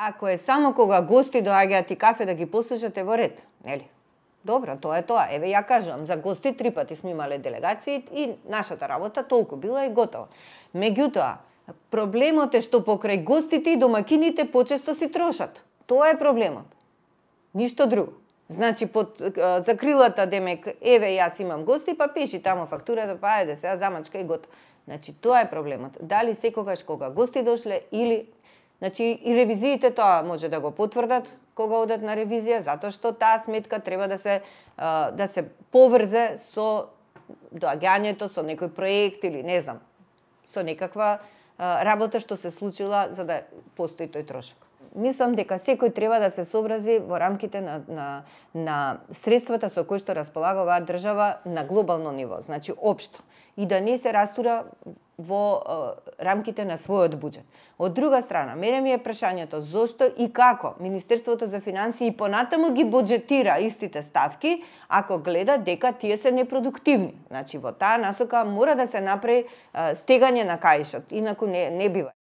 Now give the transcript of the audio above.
Ако е само кога гости доаѓаат и кафе да ги послушате, во ред, нели? Добро, тоа е тоа. Еве ја кажувам, за гости 3 пати сме имале делегации и нашата работа толку била и готово. Меѓутоа, проблемот е што покрај гостите и домакините почесто си трошат. Тоа е проблемот. Ништо друго. Значи, под закрилата, демек, еве, јас имам гости, па пиши тамо фактурата, па ајде сега замачка и готово. Значи, тоа е проблемот. Дали секогаш кога гости дошле или... Значи, и ревизиите тоа може да го потврдат кога одат на ревизија, затоа што таа сметка треба да се поврзе со доаѓањето, со некој проект или не знам, со некаква работа што се случила за да постои тој трошок. Мислам дека секој треба да се сообрази во рамките на средствата со кои што располага оваа држава на глобално ниво, значи општо, и да не се растура во рамките на својот буџет. Од друга страна, мене ми е прашањето зошто и како Министерството за финансии и понатаму ги буџетира истите ставки, ако гледа дека тие се непродуктивни. Значи во таа насока мора да се направи стегање на каишот, инаку не бива.